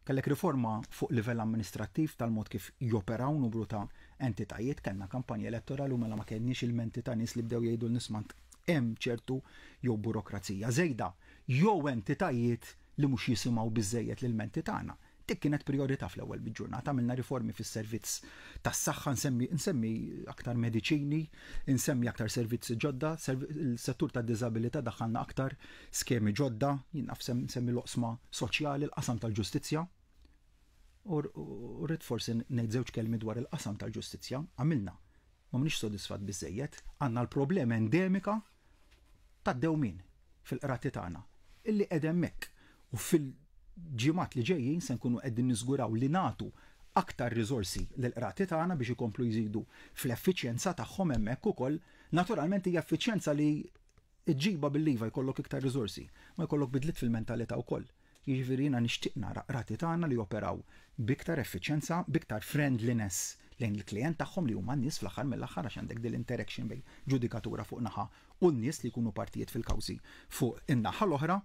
Kellek riforma fuq livell amministrattiv tal-mod kif joperaw numru ta' entitajiet, kellna kampanja elettorali u mela ma kellniex ilmenti ta' nies li bdew jgħidu l-nisma' hemm ċertu jew burokrazija żejda jew entitajiet li mhux jisimgħu biżżejjed l-ilmenti tagħna. Dik kienet prijorità fl-ewwel ġurnata. Għamilna riformi fis-servizz tas-saħħa, nsemmi aktar mediċini, insemmi aktar servizzi ġodda, il-settur tad-diżabilità daħħalna aktar skemi ġodda, jien naf nsemmi l-oqsma soċjali, l-qasam tal-ġustizzja. U rrid forsi ngħid żewġ kelmi dwar il-qasam tal-ġustizzja. Għamilna, ma m'iniex sodisfatt biżejjed, għandna l-problema endemika tad-dewmien fil-qrati tagħna illi qed hemmhekk u fil-ġimgħat li ġejjin se nkunu qegħdin niżguraw li nagħtu aktar riżorsi lill-qrati tagħna biex ikomplu jżidu fl-effiċjenza tagħhom hemmhekk ukoll. Naturalment hija effiċjenza li ġġibha bil-liva jkollok iktar riżorsi, ma jkollok bidliet fil-mentalità wkoll. Jiġifieri jiena nixtieq nara qrati tagħna li joperaw b'iktar effiċjenza, b'iktar friendliness lejn il-klijent tagħhom li huma n-nies fl-aħħar mill-aħħar, għax għandek din l-interaction bejn ġudikatura fuq naħa u n-nies li jkunu partijiet fil-kawżi fuq in-naħa l-oħra.